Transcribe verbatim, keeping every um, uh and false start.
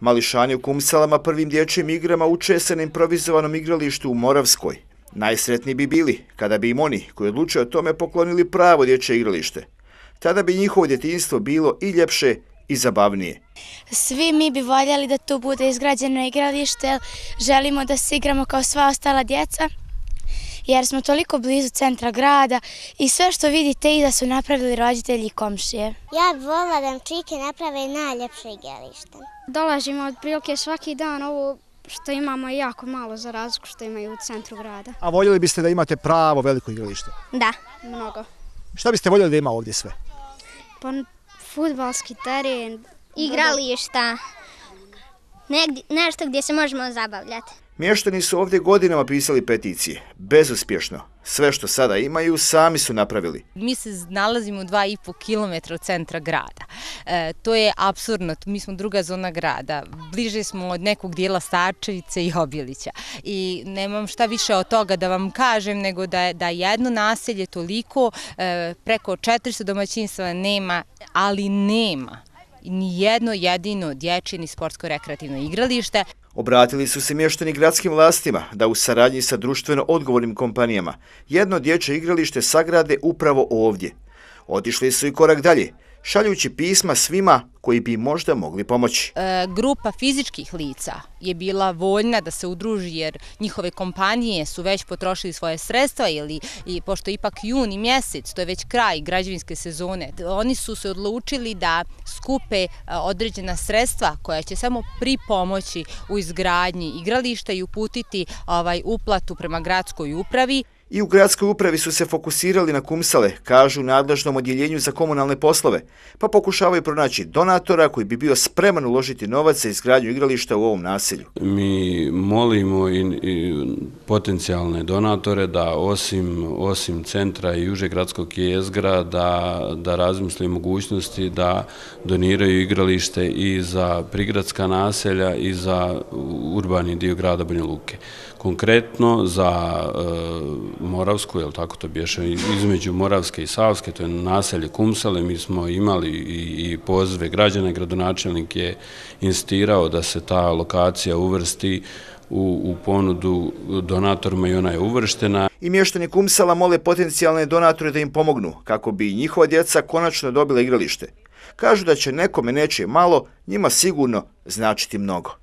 Mališani u Kumsalama prvim dječjim igrama uče se na improvizovanom igralištu u Moravskoj. Najsretniji bi bili kada bi im oni koji odlučuju o tome poklonili pravo dječje igralište. Tada bi njihovo djetinjstvo bilo i ljepše i zabavnije. Svi mi bi voljeli da tu bude izgrađeno igralište, želimo da se igramo kao sva ostala djeca, jer smo toliko blizu centra grada i sve što vidite iza su napravili roditelji i komšije. Ja bih voljela da nam čike naprave najljepše igralište. Dolazimo od prilike svaki dan, ovo što imamo je jako malo za razliku što imaju u centru grada. A voljeli biste da imate pravo veliko igralište? Da, mnogo. Šta biste voljeli da ima ovdje sve? Pa fudbalski teren, igrališta, negdje, nešto gdje se možemo zabavljati. Mještani su ovdje godinama pisali peticije. Bezuspješno. Sve što sada imaju sami su napravili. Mi se nalazimo dva i po kilometra od centra grada. E, to je apsurdno. Mi smo druga zona grada. Bliže smo od nekog dijela Starčevice i Obilića. I nemam šta više od toga da vam kažem nego da, da jedno naselje toliko, e, preko četiristo domaćinstva nema, ali nema ni jedno jedino dječje ni sportsko-rekreativno igralište. Obratili su se mještani gradskim vlastima da u saradnji sa društveno odgovornim kompanijama jedno dječje igralište sagrade upravo ovdje. Otišli su i korak dalje, šaljući pisma svima koji bi možda mogli pomoći. E, grupa fizičkih lica je bila voljna da se udruži jer njihove kompanije su već potrošili svoje sredstva ili i pošto ipak juni mjesec, to je već kraj građevinske sezone, oni su se odlučili da skupe određena sredstva koja će samo pripomoći u izgradnji igrališta i uputiti ovaj, uplatu prema gradskoj upravi. I u gradskoj upravi su se fokusirali na Kumsale, kažu nadležnom odjeljenju za komunalne poslove, pa pokušavaju pronaći donatora koji bi bio spreman uložiti novac za izgradnju igrališta u ovom naselju. Mi molimo i, i potencijalne donatore da osim, osim centra i užeg gradskog jezgra da, da razmisli mogućnosti da doniraju igralište i za prigradska naselja i za urbani dio grada Banja Luke. Konkretno za e, Moravsku, jel tako to bješe, između Moravske i Savske, to je naselje Kumsale, mi smo imali i, i pozive građana, gradonačelnik je insistirao da se ta lokacija uvrsti u, u ponudu donatorima i ona je uvrštena. I mještani Kumsala mole potencijalne donatore da im pomognu, kako bi njihova djeca konačno dobila igralište. Kažu da će nekome neće malo, njima sigurno značiti mnogo.